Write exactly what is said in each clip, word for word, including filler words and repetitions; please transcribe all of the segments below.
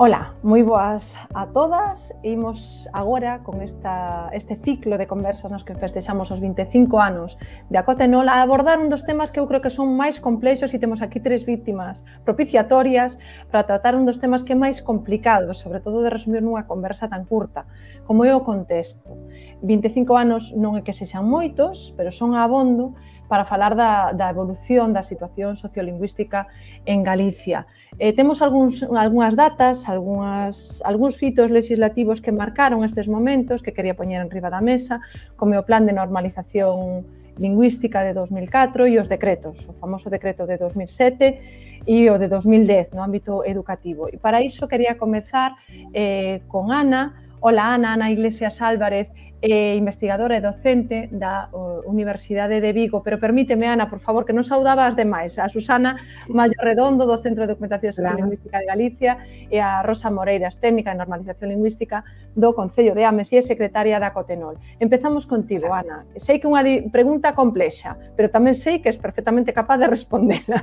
Ola, moi boas a todas. Imos agora con esta, este ciclo de conversas nos que festexamos os vinte e cinco anos de Acotenol a abordar un dos temas que eu creo que son máis complexos e temos aquí tres víctimas propiciatorias para tratar un dos temas que é máis complicado, sobre todo de resumir nunha conversa tan curta, como é o contexto. vinte e cinco anos non é que sexan moitos, pero son abondo para falar da, da evolución da situación sociolingüística en Galicia. Eh, temos algúns, algunhas datas, algunhas, algúns fitos legislativos que marcaron estes momentos que quería poñer en riba da mesa, como o Plan de Normalización Lingüística de dos mil catro e os decretos, o famoso decreto de dos mil sete e o de dos mil dez no ámbito educativo. E para iso quería comezar eh, con Ana. Ola, Ana, Ana Iglesias Álvarez, eh, investigadora e docente da uh, Universidade de Vigo, pero permíteme, Ana, por favor, que non saudaba as demais, a Susana Mallo Redondo, do Centro de Documentación Sociolingüística de Galicia, e a Rosa Moreiras, técnica de normalización lingüística do Concello de Ames e secretaria da Acotenol. Empezamos contigo, Ana. Sei que é unha pregunta complexa, pero tamén sei que és perfectamente capaz de respondela.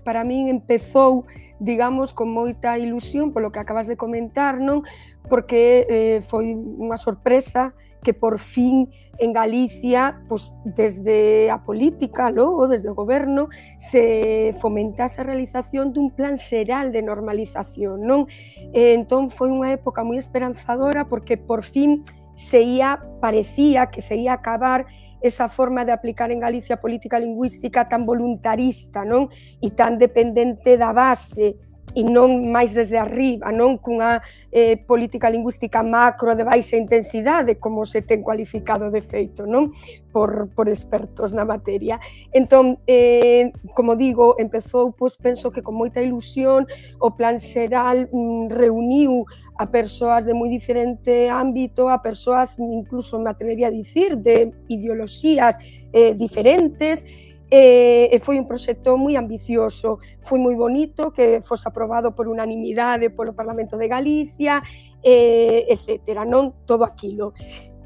Para min empezou, digamos, con moita ilusión polo que acabas de comentar, non? Porque eh, foi unha sorpresa que por fin en Galicia, pues, desde a política, logo, desde o goberno, se fomentase a realización dun plan xeral de normalización, non? E, entón foi unha época moi esperanzadora porque por fin se ia, parecía que se ia acabar esa forma de aplicar en Galicia a política lingüística tan voluntarista, non? E tan dependente da base, e non máis desde arriba, non cunha eh, política lingüística macro de baixa intensidade, como se ten cualificado de feito, non? Por, por expertos na materia. Entón, eh, como digo, empezou, pois, penso que con moita ilusión, o plan xeral mm, reuniu a persoas de moi diferente ámbito, a persoas, incluso me atrevería a dicir, de ideoloxías eh, diferentes, e foi un proxecto moi ambicioso, foi moi bonito que fose aprobado por unanimidade polo Parlamento de Galicia, etcétera, non todo aquilo.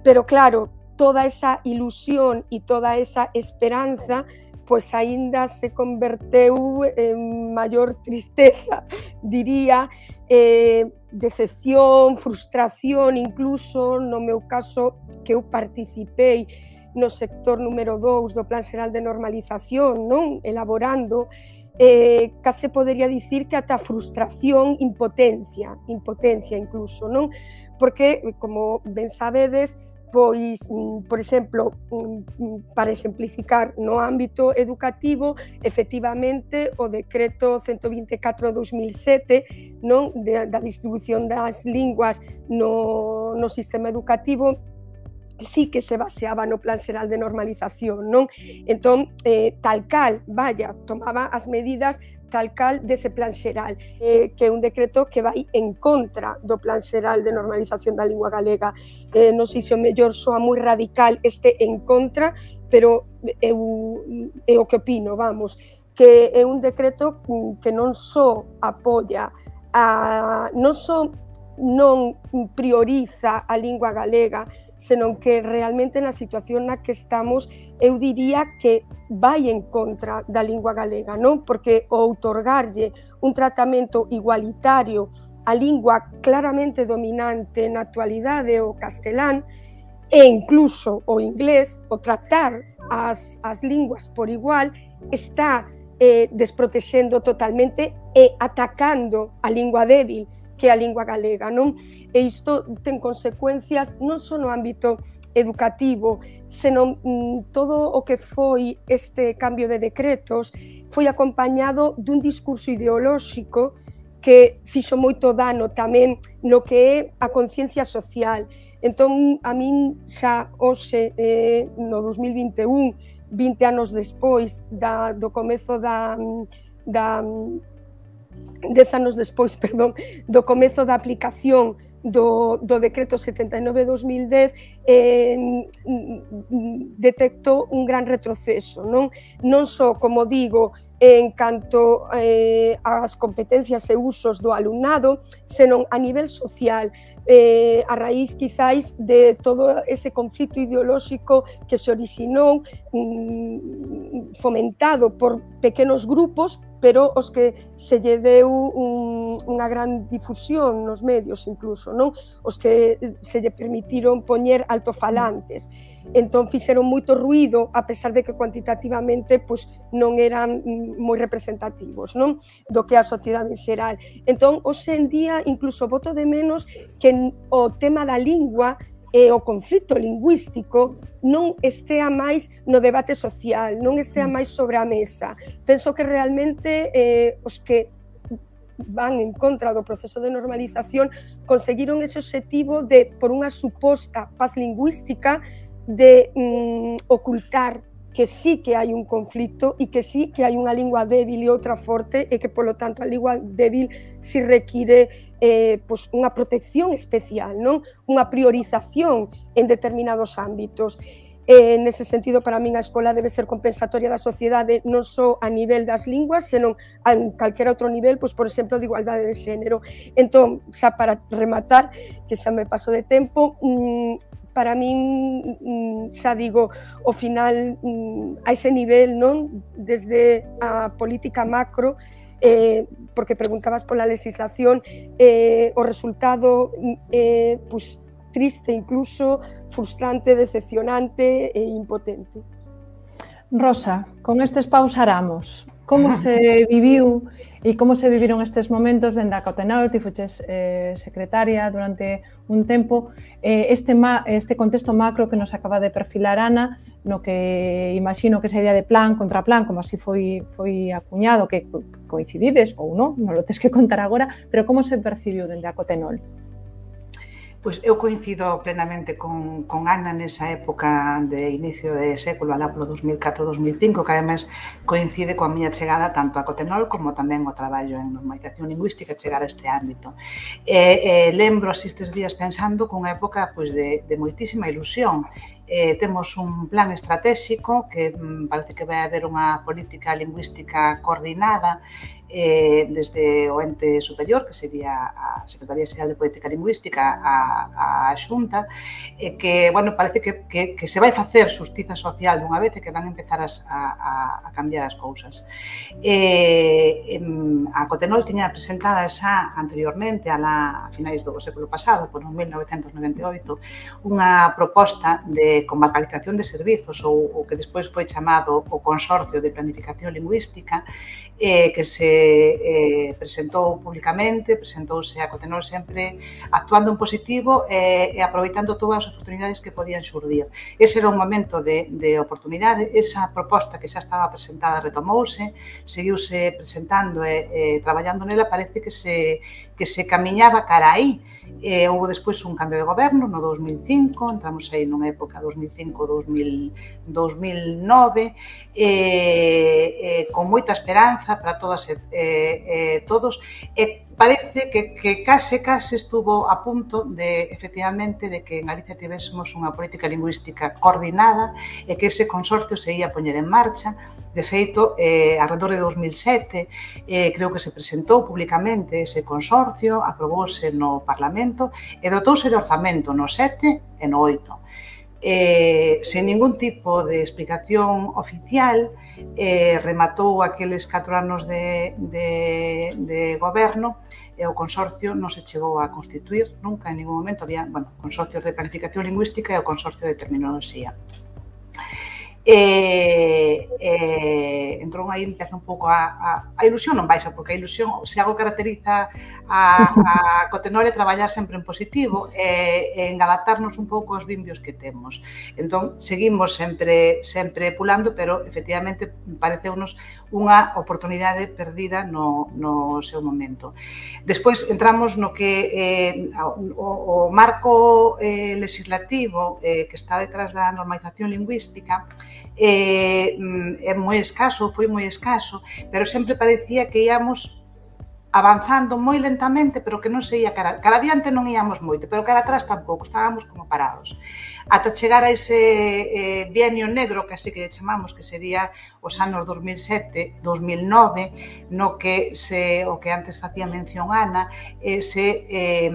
Pero claro, toda esa ilusión e toda esa esperanza pois aínda se converteu en maior tristeza, diría, eh, decepción, frustración, incluso no meu caso que eu participei no sector número dous do Plan Xeral de Normalización, non? Elaborando, eh, case podería dicir que ata frustración, impotencia, impotencia incluso, non? Porque, como ben sabedes, pois, por exemplo, para exemplificar no ámbito educativo, efectivamente, o decreto ciento vinte e catro barra dos mil sete, non? De, da distribución das linguas no, no sistema educativo, sí que se baseaba no Plan Xeral de Normalización, non? Entón, eh, tal cal, vaya, tomaba as medidas tal cal dese Plan Xeral, eh, que é un decreto que vai en contra do Plan Xeral de Normalización da Lingua Galega. Eh, non sei se o mellor soa moi radical este en contra, pero eu, é o que opino, vamos, que é un decreto que non só apoia, a, non só non prioriza a lingua galega, senón que realmente na situación na que estamos eu diría que vai en contra da lingua galega, non? Porque o outorgarlle un tratamento igualitario á lingua claramente dominante na actualidade, o castelán, e incluso o inglés, o tratar as, as linguas por igual, está eh, desprotexendo totalmente e atacando a lingua débil, que é a lingua galega, non? E isto ten consecuencias non só no ámbito educativo, senón mm, todo o que foi este cambio de decretos foi acompañado dun discurso ideolóxico que fixo moito dano tamén no que é a conciencia social. Entón, a min xa hoxe, eh, no dos mil vinte e un, vinte anos despois da, do comezo da, da dez anos despois, perdón, do comezo da aplicación do, do decreto setenta e nove barra dos mil dez, eh, detectou un gran retroceso, non? Non só, como digo, en canto eh, ás competencias e usos do alumnado, senón a nivel social, eh, a raíz quizáis de todo ese conflito ideolóxico que se orixinou, mm, fomentado por pequenos grupos, pero os que se lle deu un unha gran difusión nos medios incluso, non? Os que se lle permitiron poñer altofalantes. Entón fixeron moito ruído, a pesar de que cuantitativamente pois, non eran moi representativos, non? Do que a sociedade en xeral. Entón, hoxe en día, incluso boto de menos que o tema da lingua e o conflito lingüístico non estea máis no debate social, non estea máis sobre a mesa. Penso que realmente eh, os que van en contra do proceso de normalización conseguiron ese objetivo de, por unha suposta paz lingüística, de mm, ocultar que sí que hai un conflito e que sí que hai unha lingua débil e outra forte e que, polo tanto, a lingua débil si require eh, pues, unha protección especial, non? Unha priorización en determinados ámbitos. Eh, nese sentido, para min, a escola debe ser compensatoria da sociedade non só a nivel das linguas, senón a calquera outro nivel, pois, por exemplo, de igualdade de xénero. Entón, xa para rematar, que xa me paso de tempo, mmm, para min, xa digo, ao final, a ese nivel, non? Desde a política macro, eh, porque preguntabas pola legislación, eh, o resultado é eh, pues, triste incluso, frustrante, decepcionante e impotente. Rosa, con estes pausaramos. Como se viviu e como se viviron estes momentos dende a Cotenol? Ti fuches eh, secretaria durante un tempo. Eh, este, ma, este contexto macro que nos acaba de perfilar Ana, no que imagino que esa idea de plan contra plan, como así foi, foi acuñado, que coincidides ou non, non lo tens que contar agora, pero como se percibiu dende a Cotenol? Pois eu coincido plenamente con, con Ana nesa época de inicio de século, alá polo dos mil catro dos mil cinco, que ademais coincide coa miña chegada tanto a Cotenol como tamén o traballo en normalización lingüística chegar a este ámbito. E, e lembro así estes días pensando cunha época pois, de, de moitísima ilusión. Eh, temos un plan estratégico que mm, parece que vai haber unha política lingüística coordinada eh, desde o ente superior, que sería a Secretaría Xeral de Política Lingüística, a, a Xunta, eh, que, bueno, parece que, que, que se vai facer xustiza social dunha vez e que van empezar as, a, a cambiar as cousas. Eh, em, a Cotenol tiña presentada xa anteriormente, a, la, a finais do século pasado, por mil novecentos noventa e oito, unha proposta de comarcalización de servizos, ou o que despois foi chamado o Consorcio de Planificación Lingüística, eh, que se eh, presentou públicamente, presentouse a Cotenol sempre actuando en positivo eh, e aproveitando todas as oportunidades que podían xurdir. Ese era un momento de, de oportunidade, esa proposta que xa estaba presentada retomouse, seguiuse presentando e eh, traballando nela, parece que se, que se camiñaba cara aí. Eh, houve despois un cambio de goberno no dos mil cinco, entramos aí nunha época dos mil cinco a dos mil nove, eh, eh, con moita esperanza para todas e eh, eh, todos, e parece que, que case, case estuvo a punto de, efectivamente, de que en Galicia tivésemos unha política lingüística coordinada e que ese consorcio se ia poñer en marcha. De feito, eh, alrededor de dos mil sete, eh, creo que se presentou públicamente ese consorcio, aprobouse no Parlamento e dotouse de orzamento no sete e no oito. Eh, sen ningún tipo de explicación oficial, eh, rematou aqueles catro anos de, de, de goberno e o consorcio non se chegou a constituir nunca, en ningún momento. Había, bueno, consorcios de planificación lingüística e o consorcio de terminoloxía. E, e entón aí empeza un pouco a, a, a ilusión non baixa, porque a ilusión, se algo caracteriza a, a Cotenol é traballar sempre en positivo e, e en adaptarnos un pouco aos vimbios que temos. Entón, seguimos sempre, sempre pulando, pero efectivamente pareceunos unha oportunidade perdida no, no seu momento. Despois entramos no que eh, o, o marco eh, legislativo eh, que está detrás da normalización lingüística eh, é moi escaso, foi moi escaso, pero sempre parecía que íamos avanzando moi lentamente, pero que non se ia cara, cara adiante non íamos moito, pero cara atrás tampouco, estábamos como parados. ata chegar a ese eh, bienio negro, que así que chamamos, que sería os anos dos mil sete, dos mil nove, no que se, o que antes facía mención Ana, eh, se eh,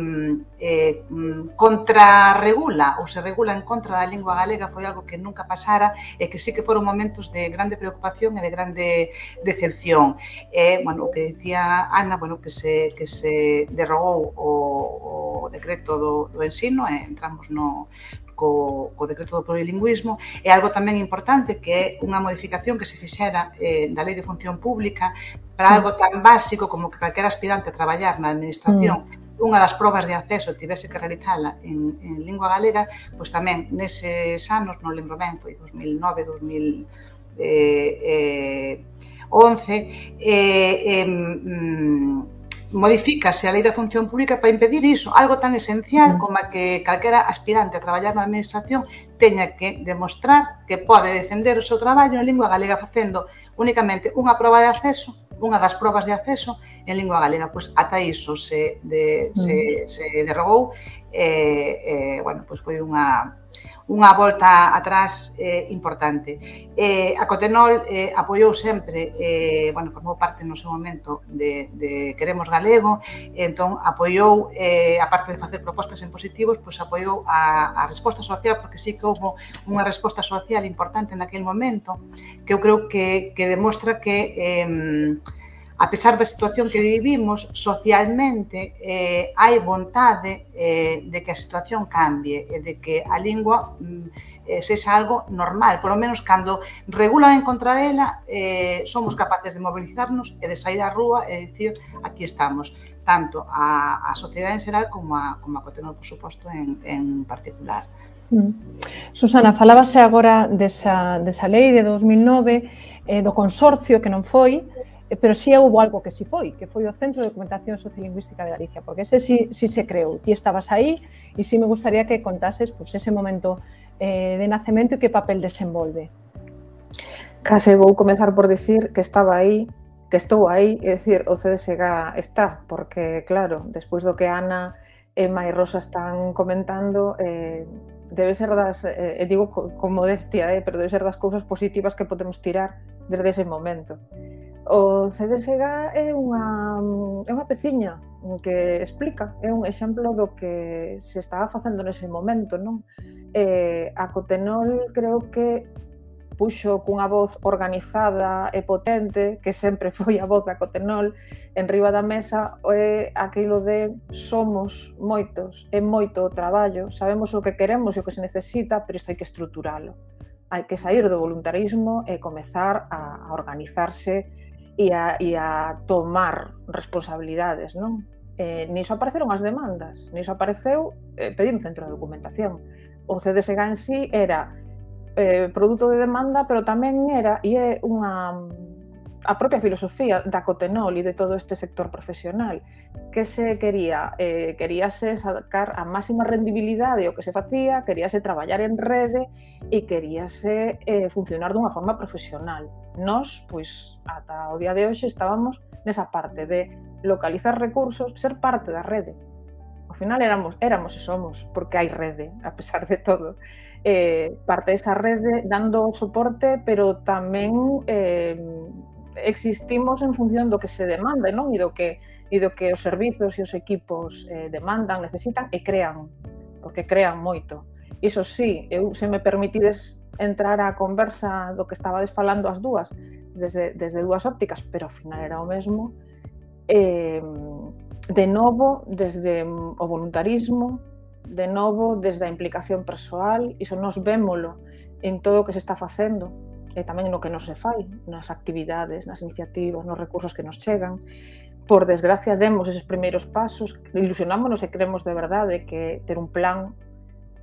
eh, contrarregula ou se regula en contra da lingua galega, foi algo que nunca pasara e que sí que foron momentos de grande preocupación e de grande decepción. Eh, bueno, o que dicía Ana, bueno, que se, que se derrogou o, o decreto do, do ensino e entramos no co, co decreto do plurilingüismo, é algo tamén importante que é unha modificación que se fixera eh, da Lei de Función Pública para algo tan básico como que calquera aspirante a traballar na administración mm. unha das probas de acceso tivese que realizala en, en lingua galega, pois tamén neses anos, non lembro ben, foi dos mil nove, dos mil once, eh, eh, mm, modifícase a Lei da Función Pública para impedir iso, algo tan esencial como a que calquera aspirante a traballar na administración teña que demostrar que pode defender o seu traballo en lingua galega facendo únicamente unha proba de acceso, unha das probas de acceso en lingua galega. Pois ata iso se, de, se, se derrogou e, eh, bueno, pois foi unha unha volta atrás eh, importante. Eh, a Cotenol eh, apoiou sempre, eh, bueno, formou parte no seu momento de, de Queremos Galego, entón apoiou, eh, aparte de facer propostas en positivos, pois apoiou a, a resposta social, porque sí que houve unha resposta social importante naquele momento, que eu creo que, que demostra que eh, a pesar da situación que vivimos, socialmente eh, hai vontade eh, de que a situación cambie e de que a lingua eh, sexa algo normal. Por lo menos, cando regulan en contra dela, eh, somos capaces de mobilizarnos e de sair á rúa e dicir aquí estamos, tanto a, a sociedade en xeral como a, como a Cotenol, por suposto, en, en particular. Mm. Susana, falábase agora desa, desa lei de dos mil nove, eh, do consorcio que non foi, pero sí houve algo que sí foi, que foi o Centro de Documentación Sociolingüística de Galicia, porque ese sí, sí se creou, ti estabas aí e sí me gustaría que contases pues, ese momento eh, de nacemento e que papel desenvolve. Case vou comezar por dicir que estaba aí, que estou aí, é dicir, o C D S G está, porque claro, despois do que Ana, Emma e Rosa están comentando, eh, debe ser das, eh, digo con modestia, eh, pero debe ser das cousas positivas que podemos tirar desde ese momento. O C D S G é unha, é unha peciña que explica, é un exemplo do que se estaba facendo nese momento, non? Eh, a Cotenol creo que puxo cunha voz organizada e potente, que sempre foi a voz da Cotenol, en riba da mesa é aquilo de somos moitos, é moito o traballo, sabemos o que queremos e o que se necesita, pero isto hai que estruturalo. Hai que sair do voluntarismo e comezar a organizarse e a, e a tomar responsabilidades, non? Eh, niso apareceron as demandas, niso apareceu eh, pedir un centro de documentación. O C D S G en sí era eh, produto de demanda, pero tamén era, e é unha, a propia filosofía da Cotenol e de todo este sector profesional, que se quería, eh, queríase sacar a máxima rendibilidade o que se facía, queríase traballar en rede e queríase eh, funcionar dunha forma profesional. Nós, pois, ata o día de hoxe estábamos nesa parte de localizar recursos, ser parte da rede. Ao final éramos, éramos e somos, porque hai rede, a pesar de todo. Eh, parte desa rede dando soporte, pero tamén eh, existimos en función do que se demanda, non? E do que, e do que os servizos e os equipos eh, demandan, necesitan e crean, porque crean moito. Iso sí, eu, se me permitides entrar á conversa do que estabades falando as dúas, desde, desde dúas ópticas, pero ao final era o mesmo, eh, de novo, desde o voluntarismo, de novo, desde a implicación persoal, iso nos vémolo en todo o que se está facendo, e tamén no que non se fai, nas actividades, nas iniciativas, nos recursos que nos chegan. Por desgracia, demos eses primeiros pasos, ilusionámonos e creemos de verdade que ter un plan,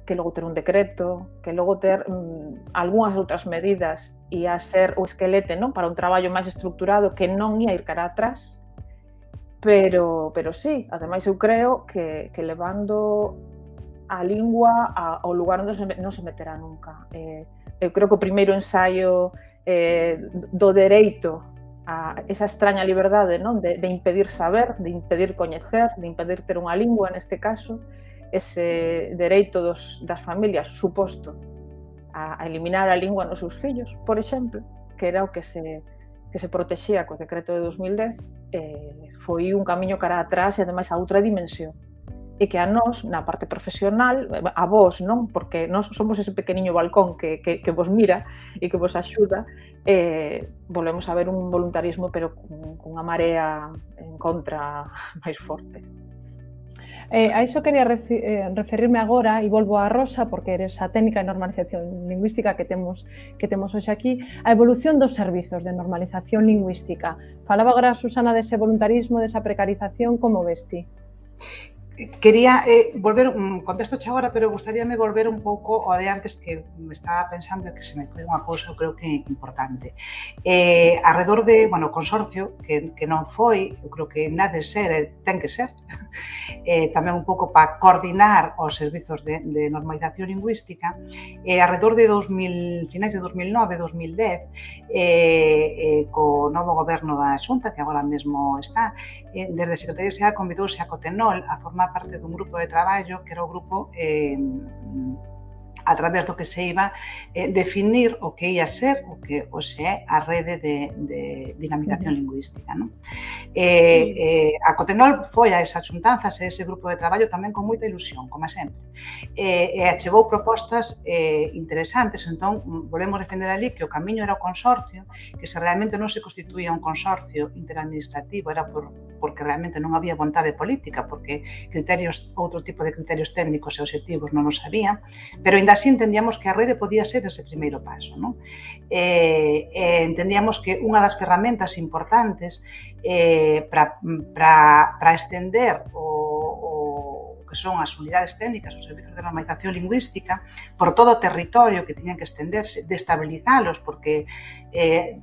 que logo ter un decreto, que logo ter mm, algunhas outras medidas e a ser o esquelete, non, para un traballo máis estructurado que non ia ir cara atrás, pero, pero sí, ademais eu creo que, que levando a lingua ao lugar onde se, non se meterá nunca. Eh, eu creo que o primeiro ensaio eh, do dereito a esa extraña liberdade, non, de, de impedir saber, de impedir coñecer, de impedir ter unha lingua neste caso, ese dereito dos, das familias suposto a, a eliminar a lingua nos seus fillos, por exemplo, que era o que se, que se protexía co decreto de dos mil dez, eh, foi un camiño cara atrás e ademais a outra dimensión. E que a nós, na parte profesional, a vos, non? Porque nós somos ese pequeniño balcón que, que, que vos mira e que vos axuda, eh, volvemos a ver un voluntarismo pero con, con unha marea en contra máis forte. Eh, a iso quería eh, referirme agora e volvo a Rosa porque eres a técnica de normalización lingüística que temos que temos hoxe aquí, a evolución dos servizos de normalización lingüística. Falaba agora Susana dese voluntarismo, desa precarización, como ves ti? Quería eh, volver, um, contesto xa agora, pero gustaríame volver un pouco ao de antes que me estaba pensando que se me foi unha cousa, eu creo que importante. Eh, arredor de, bueno, consorcio, que, que non foi, eu creo que nada de ser, eh, ten que ser, eh, tamén un pouco para coordinar os servizos de, de normalización lingüística, eh, arredor de dos mil, finais de dos mil nove, dos mil dez, eh, eh, co novo goberno da Xunta, que agora mesmo está, eh, desde a Secretaría Xeral convidouse a Cotenol a formar parte dun grupo de traballo que era o grupo eh, a través do que se iba eh, definir o que ia ser o que hoxe é a rede de, de dinamización lingüística. Non? Eh, eh, a Cotenol foi a esas xuntanzas e ese grupo de traballo tamén con moita ilusión, como sempre. E eh, achegou propostas eh, interesantes, entón volvemos defender ali que o camiño era o consorcio, que se realmente non se constituía un consorcio interadministrativo, era por, porque realmente non había vontade política, porque criterios, outro tipo de criterios técnicos e obxectivos non os había, pero ainda así entendíamos que a rede podía ser ese primeiro paso. Non? Eh, eh, entendíamos que unha das ferramentas importantes eh, para, para, para estender o, o que son as unidades técnicas, os servizos de normalización lingüística, por todo o territorio que tiñan que extenderse, destabilizalos, porque eh,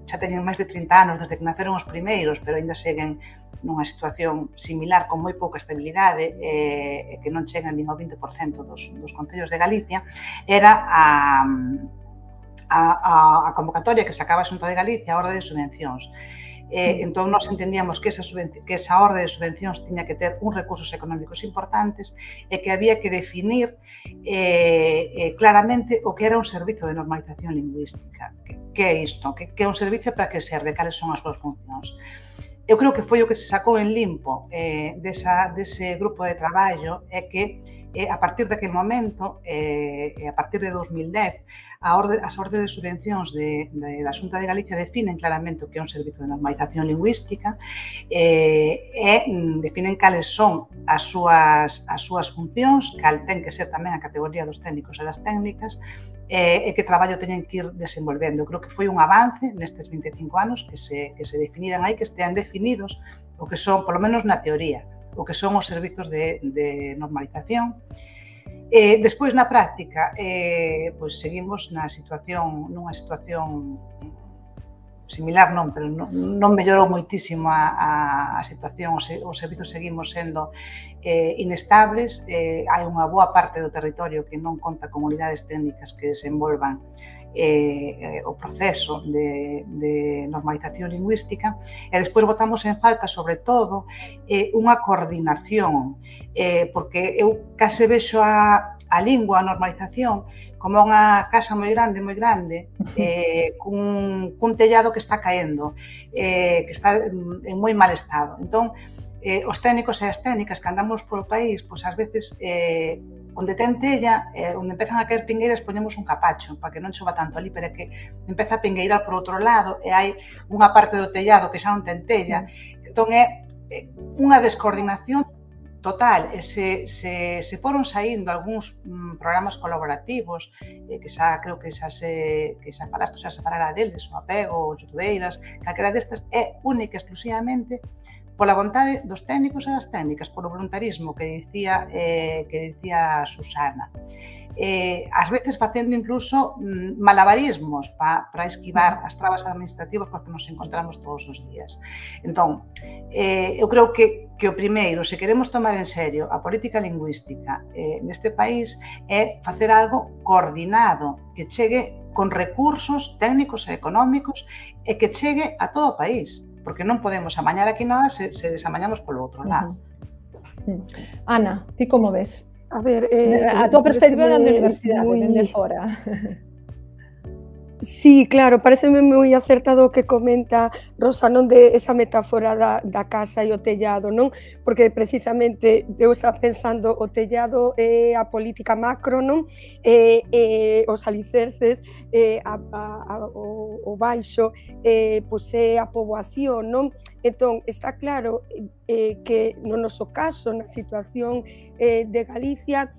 xa teñen máis de trinta anos desde que naceron os primeiros, pero ainda seguen nunha situación similar con moi pouca estabilidade e eh, que non chegan nin ao vinte por cento dos, dos concellos de Galicia, era a, a, a convocatoria que sacaba a Xunta de Galicia, a orde de subvencións. Eh, entón, nós entendíamos que esa, que esa orde de subvencións tiña que ter uns recursos económicos importantes e que había que definir eh, eh, claramente o que era un servizo de normalización lingüística. Que, que é isto? Que, que é un servicio para que serve? Cales son as súas funcións? Eu creo que foi o que se sacou en limpo eh, desa, dese grupo de traballo é que eh, a partir daquele momento, eh, a partir de dos mil dez, a orde, as ordes de subvencións de, de, da Xunta de Galicia definen claramente o que é un servizo de normalización lingüística eh, e definen cales son as súas, as súas funcións, cal ten que ser tamén a categoría dos técnicos e das técnicas, e que traballo teñen que ir desenvolvendo. Eu creo que foi un avance nestes vinte e cinco anos que se, que se definiran aí, que estean definidos o que son, polo menos na teoría, o que son os servizos de, de normalización. Eh, despois, na práctica, eh, pois seguimos na situación, nunha situación similar non, pero non, non mellorou moitísimo a, a, a situación, os, os servizos seguimos sendo eh, inestables, eh, hai unha boa parte do territorio que non conta con unidades técnicas que desenvolvan eh, o proceso de, de normalización lingüística e despois botamos en falta, sobre todo, eh, unha coordinación, eh, porque eu case vexo a a lingua, a normalización, como unha casa moi grande, moi grande, eh, cun, cun tellado que está caendo, eh, que está en moi mal estado. Entón, eh, os técnicos e as técnicas que andamos polo país, pois ás veces, eh, onde ten tella, eh, onde empezan a caer pingueiras, poñemos un capacho, para que non chova tanto ali, pero é que empeza a pingueirar por outro lado, e hai unha parte do tellado que xa non ten tella. Entón, é unha descoordinación total, e se, se, se foron saindo algúns mm, programas colaborativos, eh, que xa creo que xa se, que xa falaste, xa se falará deles, o Apego, os Youtubeiras, calquera destas, é única exclusivamente pola vontade dos técnicos e das técnicas, polo voluntarismo que dicía, eh, que dicía Susana. Eh, ás veces facendo incluso mm, malabarismos para pa esquivar as trabas administrativas porque nos encontramos todos os días. Entón, eh, eu creo que, que o primeiro, se queremos tomar en serio a política lingüística eh, neste país, é facer algo coordinado, que chegue con recursos técnicos e económicos e que chegue a todo o país, porque non podemos amañar aquí nada se, se desamañamos polo outro lado. Uh-huh. Ana, ti como ves? A ver, eh, a tua perspectiva da universidade, moi... dende fora. Sí, claro, pareceme moi acertado o que comenta Rosa, non, de esa metáfora da, da casa e o tellado, non? Porque precisamente eu estaba pensando o tellado é a política macro, non? E, e os alicerces, e a, a, a, o, o baixo, e, pois é a poboación, non? Entón, está claro eh, que no noso caso, na situación eh, de Galicia,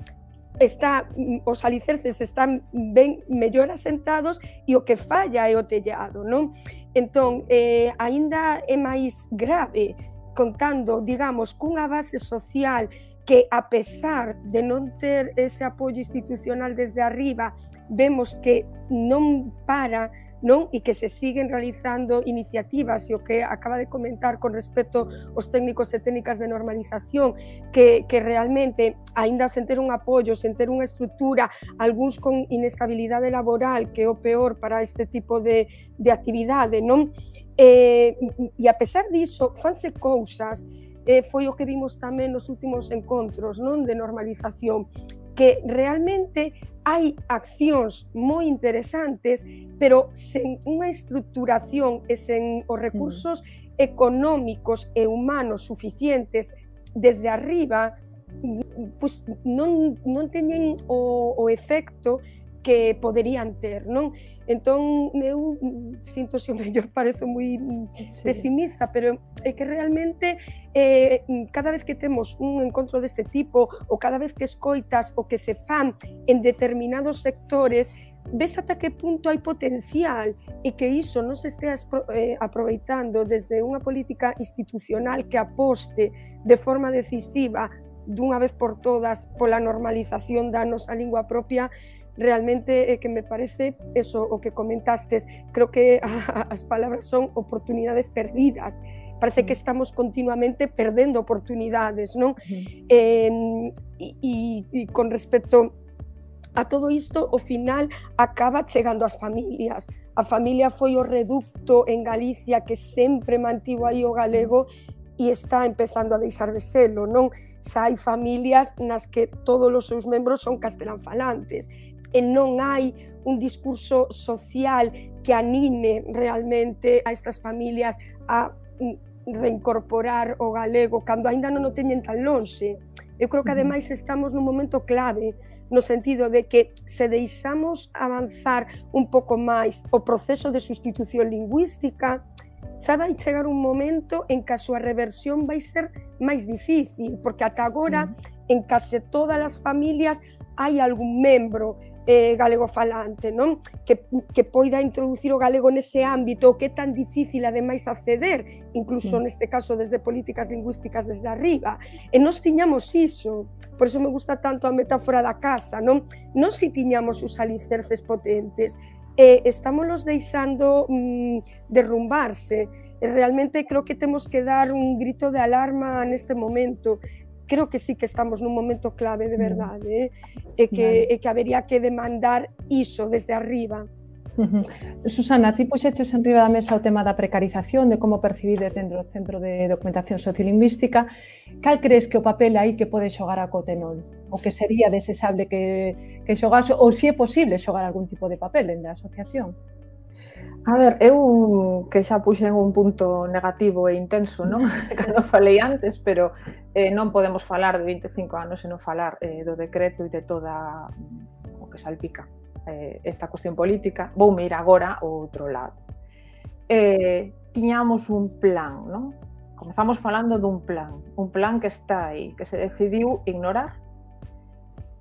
está, os alicerces están ben mellor asentados e o que falla é o tellado, non? Entón, eh, aínda é máis grave contando, digamos, cunha base social que, a pesar de non ter ese apoio institucional desde arriba, vemos que non para, non? E que se siguen realizando iniciativas, e o que acaba de comentar con respecto aos técnicos e técnicas de normalización, que, que realmente, aínda sen ter un apoio, sen ter unha estrutura, algúns con inestabilidade laboral, que é o peor para este tipo de, de actividade, non? E, e a pesar diso, fanse cousas, eh, foi o que vimos tamén nos últimos encontros, non? De normalización, que realmente hai accións moi interesantes, pero sen unha estructuración e sen os recursos económicos e humanos suficientes desde arriba, pois non, non teñen o, o efecto que poderían ter, non? Entón, eu sinto se o mellor parezo moi sí. pesimista, pero é que realmente eh, cada vez que temos un encontro deste tipo, ou cada vez que escoitas o que se fan en determinados sectores, ves ata que punto hai potencial e que iso non se estea eh, aproveitando desde unha política institucional que aposte de forma decisiva dunha vez por todas pola normalización da nosa lingua propia. Realmente é que me parece eso o que comentastes, creo que a, as palabras son oportunidades perdidas, parece que estamos continuamente perdendo oportunidades, non? Uh-huh. eh, e, e con respecto a todo isto, ao final acaba chegando ás familias. A familia foi o reducto en Galicia que sempre mantivo aí o galego e está empezando a deixar de selo, non? Xa hai familias nas que todos os seus membros son castelanfalantes, e non hai un discurso social que anime realmente a estas familias a reincorporar o galego cando aínda non o teñen tan lonxe. Eu creo que ademais estamos nun momento clave no sentido de que se deixamos avanzar un pouco máis o proceso de sustitución lingüística, xa vai chegar un momento en que a súa reversión vai ser máis difícil, porque ata agora en case todas as familias hai algún membro eh, galegofalante, non? Que, que poida introducir o galego nese ámbito que é tan difícil ademais acceder, incluso sí. neste caso desde políticas lingüísticas desde arriba. E nós tiñamos iso, por iso me gusta tanto a metáfora da casa, non? Nós si tiñamos os alicerces potentes, e estámoslos deixando mm, derrumbarse. E realmente creo que temos que dar un grito de alarma neste momento. Creo que sí que estamos nun momento clave de verdade, eh? e, que, vale. e que habería que demandar iso desde arriba. Uh-huh. Susana, ti puxeches en riba da mesa o tema da precarización, de como percibides dentro do Centro de Documentación Sociolingüística. Cal crees que o papel aí que pode xogar a Cotenol? O que sería desexable que, que xogase, ou se é posible xogar algún tipo de papel dentro da asociación? A ver, eu que xa puxen un punto negativo e intenso, non? Cando falei antes, pero eh, non podemos falar de vinte e cinco anos e non falar eh, do decreto e de toda o que salpica eh, esta cuestión política. Vou me ir agora ao outro lado. Eh, tiñamos un plan, non? Comezamos falando dun plan, un plan que está aí, que se decidiu ignorar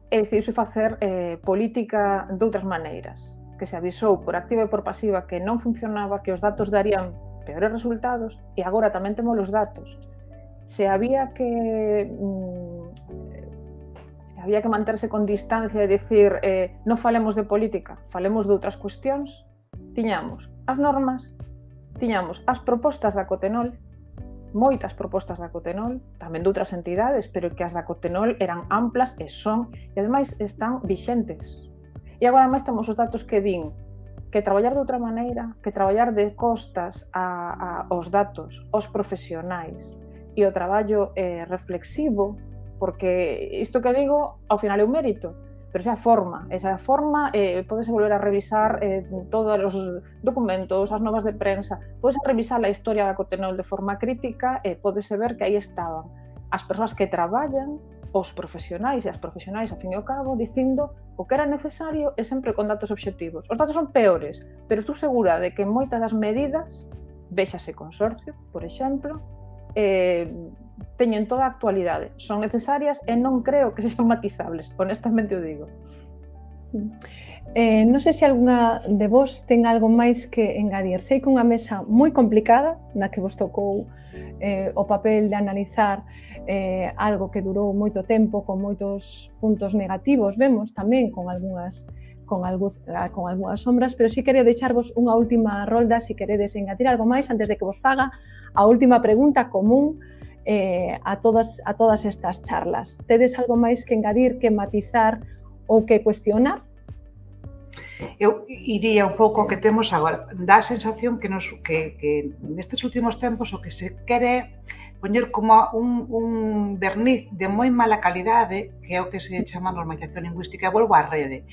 e decidiu facer eh, política de outras maneiras, que se avisou por activa e por pasiva que non funcionaba, que os datos darían peores resultados, e agora tamén temos os datos. Se había que mm, se había que manterse con distancia e dicir eh, non falemos de política, falemos de outras cuestións, tiñamos as normas, tiñamos as propostas da Cotenol, moitas propostas da Cotenol, tamén de outras entidades, pero que as da Cotenol eran amplas e son, e ademais están vixentes. E agora máis temos os datos que din que traballar de outra maneira, que traballar de costas a, a, aos datos, aos profesionais e o traballo eh, reflexivo porque isto que digo, ao final é un mérito, pero esa forma, esa forma, eh, podese volver a revisar eh, todos os documentos, as novas de prensa, podese revisar a historia da Cotenol de forma crítica e podese ver que aí estaban as persoas que traballan, os profesionais e as profesionais, ao fin e ao cabo, dicindo o que era necesario e sempre con datos obxectivos. Os datos son peores, pero estou segura de que moitas das medidas, véxase Consorcio, por exemplo, eh, teñen toda a actualidade, son necesarias e non creo que sexan matizables, honestamente o digo. Eh, non sei se alguna de vos ten algo máis que engadir. Sei que unha mesa moi complicada, na que vos tocou eh, o papel de analizar eh, algo que durou moito tempo, con moitos puntos negativos, vemos tamén con algunhas con, algún, con algunhas sombras, pero si quería deixarvos unha última rolda, se si queredes engadir algo máis, antes de que vos faga a última pregunta común eh, a, todas, a todas estas charlas. Tedes algo máis que engadir, que matizar ou que cuestionar? Eu iría un pouco ao que temos agora. Dá a sensación que, nos, que, que nestes últimos tempos o que se quere poñer como un, un verniz de moi mala calidade, que é o que se chama normalización lingüística. Volvo á rede.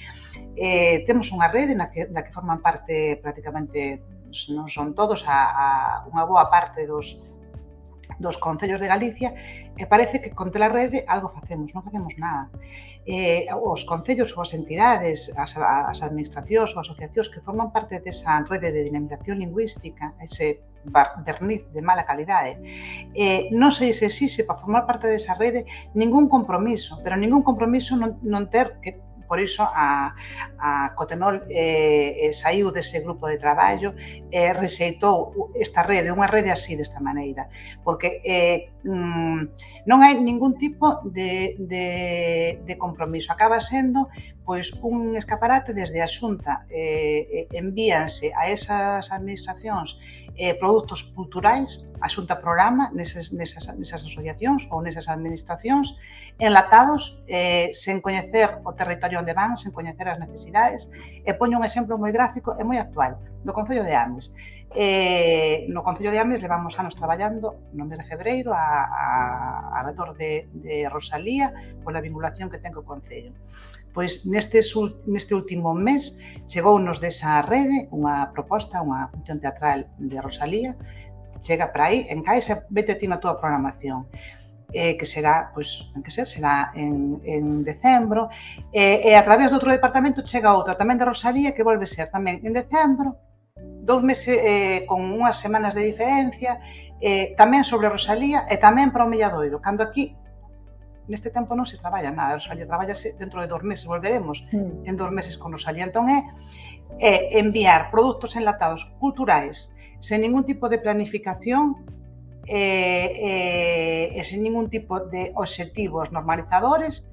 Eh, temos unha rede na que, na que forman parte prácticamente, non son todos, a, a unha boa parte dos dos concellos de Galicia, e parece que contra a rede algo facemos, non facemos nada. Eh, os concellos ou as entidades, as, as administracións ou asociacións que forman parte desa rede de dinamización lingüística, ese verniz de mala calidade, eh, non se se exixe para formar parte desa rede ningún compromiso, pero ningún compromiso non, non ter que. Por iso a, a Cotenol eh, saiu dese grupo de traballo e eh, rexeitou esta rede, unha rede así desta maneira, porque eh, mm, non hai ningún tipo de, de, de compromiso. Acaba sendo pois un escaparate desde a Xunta, eh, envíanse a esas administracións eh, produtos culturais, a Xunta programa nesas, nesas, nesas asociacións ou nesas administracións, enlatados, eh, sen coñecer o territorio onde van, sen coñecer as necesidades. E poño un exemplo moi gráfico e moi actual, do Concello de Ames. Eh, no Concello de Ames levamos anos traballando no mes de febreiro a, a, a redor de, de Rosalía pola vinculación que ten co Concello. Pois neste, neste último mes chegounos desa rede unha proposta, unha función teatral de Rosalía, chega para aí, encaixa, vete ti na túa programación. Eh, que será, pois, en que ser, será en, en decembro, e, e a través de outro departamento chega outra tamén de Rosalía que volve ser tamén en decembro, dous meses eh, con unhas semanas de diferencia, eh, tamén sobre Rosalía e tamén para o Milladoiro, cando aquí neste tempo non se traballa nada, Rosalía traballase dentro de dos meses, volveremos mm. en dos meses con Rosalía. Entón é, é enviar produtos enlatados culturais sen ningún tipo de planificación e, e, e sen ningún tipo de obxectivos normalizadores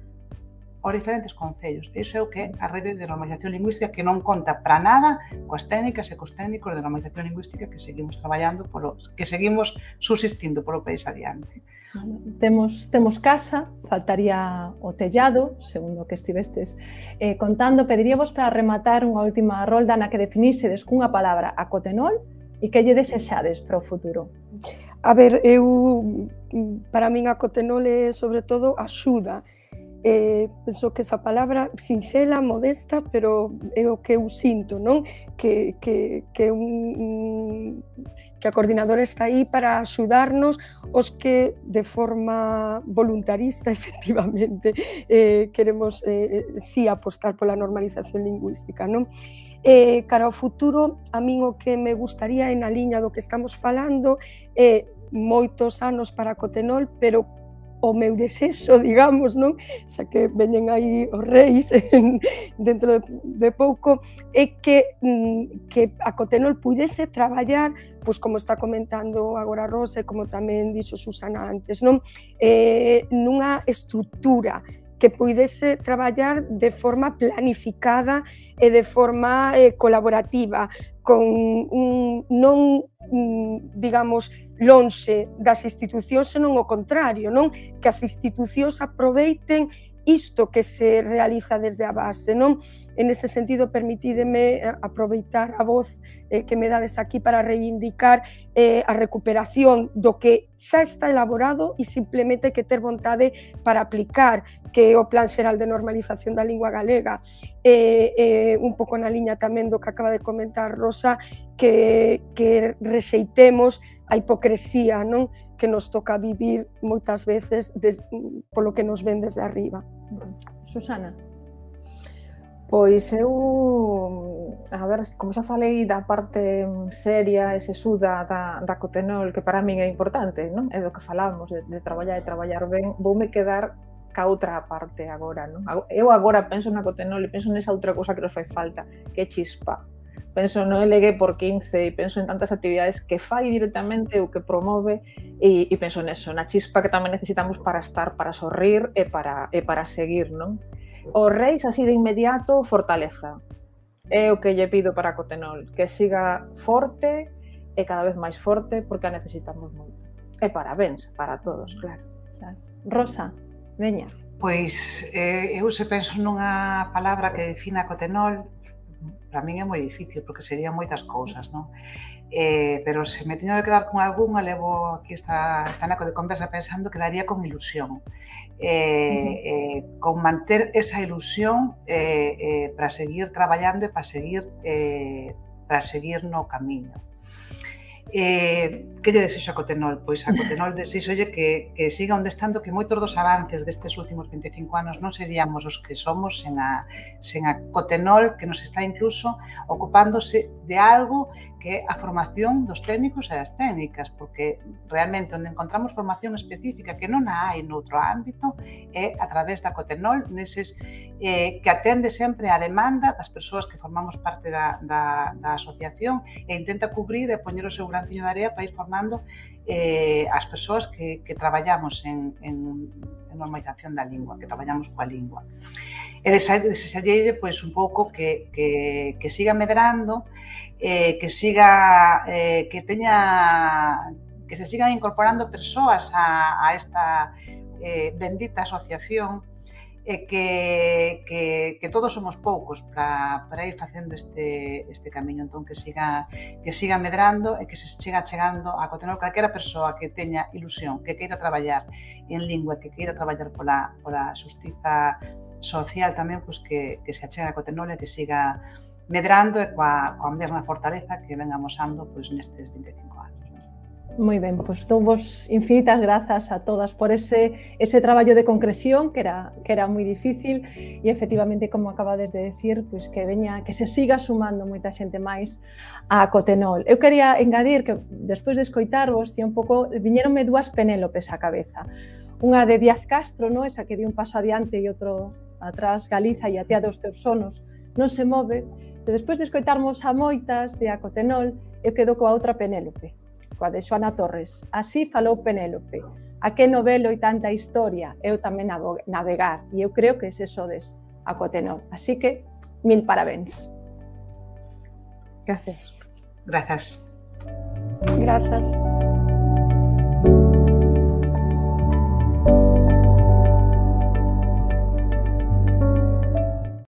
aos diferentes concellos. Iso é o que é a rede de normalización lingüística, que non conta para nada coas técnicas e cos técnicos de normalización lingüística que seguimos traballando, polo, que seguimos subsistindo polo país adiante. Temos, temos casa, faltaría o tellado, segundo que estivestes eh, contando. Pediríamos para rematar unha última rolda na que definísedes cunha palabra a Cotenol e que lle desexades para o futuro. A ver, eu, para min a Cotenol é sobre todo axuda. Eh, penso que esa palabra sinxela, modesta, pero é o que eu sinto, non? Que, que, que, un, que a coordinadora está aí para axudarnos os que de forma voluntarista, efectivamente, eh, queremos eh, sí apostar pola normalización lingüística, non? Eh, cara ao futuro, a min o que me gustaría en a liña do que estamos falando é eh, moitos anos para Cotenol, pero o meu desexo, digamos, non? Xa que veñen aí os reis dentro de, de pouco, é que, que a Cotenol pudese traballar, pois como está comentando agora Rosa e como tamén dixo Susana antes, non? Eh, nunha estrutura que pudese traballar de forma planificada e de forma eh, colaborativa, con un, non, digamos, lonxe das institucións, senón o contrario, non? Que as institucións aproveiten isto que se realiza desde a base, non? En ese sentido, permitídeme aproveitar a voz eh, que me dades aquí para reivindicar eh, a recuperación do que xa está elaborado e simplemente hai que ter vontade para aplicar, que é o Plan Xeral de Normalización da Lingua Galega. Eh, eh, un pouco na liña tamén do que acaba de comentar Rosa, que, que rexeitemos a hipocresía, non? Que nos toca vivir moitas veces des, polo que nos ven desde arriba. Susana? Pois eu, a ver, como xa falei da parte seria e sesuda da, da Cotenol, que para min é importante, non? É do que falamos, de, de traballar e traballar ben, voume quedar ca outra parte agora, non? Eu agora penso na Cotenol e penso nesa outra cousa que nos fai falta, que é chispa. Penso no L G por quince e penso en tantas actividades que fai directamente ou que promove e, e penso neso, na chispa que tamén necesitamos para estar, para sorrir e para, e para seguir, non? Os reis, así de inmediato, fortaleza. É o que lle pido para a Cotenol, que siga forte e cada vez máis forte porque a necesitamos moito. E parabéns para todos, claro. claro. Rosa, veña. Pois eh, eu se penso nunha palabra que defina a Cotenol, para min é moi difícil, porque serían moitas cousas, non? Eh, pero se me teño que quedar con algunha, levo aquí esta, esta naco de conversa pensando que daría con ilusión. Eh, uh-huh. eh, con manter esa ilusión eh, eh, para seguir traballando e para seguir, eh, para seguir no camiño. Eh, que lle desexo a Cotenol? Pois a Cotenol desexolle que, que siga onde estando, que moitos dos avances destes últimos vinte e cinco anos non seríamos os que somos sen a, sen a Cotenol, que nos está incluso ocupándose de algo que é a formación dos técnicos e das técnicas, porque realmente onde encontramos formación específica que non a hai noutro ámbito é a través da Cotenol, neses eh, que atende sempre a demanda das persoas que formamos parte da, da, da asociación e intenta cubrir e poñer o seu granciño de area para ir formando eh, as persoas que, que traballamos en, en, en normalización da lingua, que traballamos coa lingua. E desexarlle pois, un pouco que, que, que siga medrando, eh, que siga, eh, que teña, que se sigan incorporando persoas a, a esta eh, bendita asociación, e que, que, que todos somos poucos para, para ir facendo este, este camiño, entón que siga, que siga medrando e que se siga chegando a Cotenol calquera persoa que teña ilusión, que queira traballar en lingua, que queira traballar pola, pola xustiza social tamén, pois que, que se achega a Cotenol e que siga medrando e coa, coa mesma fortaleza que ven amosando pois, nestes vinte e cinco anos. Moi ben, pois dou vos infinitas grazas a todas por ese, ese traballo de concreción que era, que era moi difícil e efectivamente, como acabades de decir, pois que veña, que se siga sumando moita xente máis a Cotenol. Eu quería engadir que despois de escoitarvos, tía un pouco, viñeronme dúas Penélopes á cabeza. Unha de Díaz Castro, no? Esa que di un paso adiante e outro atrás, Galiza e a tía dos teus sonos non se move. E despois de escoitarmos a moitas de a Cotenol, eu quedo coa outra Penélope, coa de Xoana Torres. Así falou Penélope. A que novelo e tanta historia, eu tamén navegar, e eu creo que ese sodes a Cotenol. Así que, mil parabéns. Gracias. Grazas. Grazas.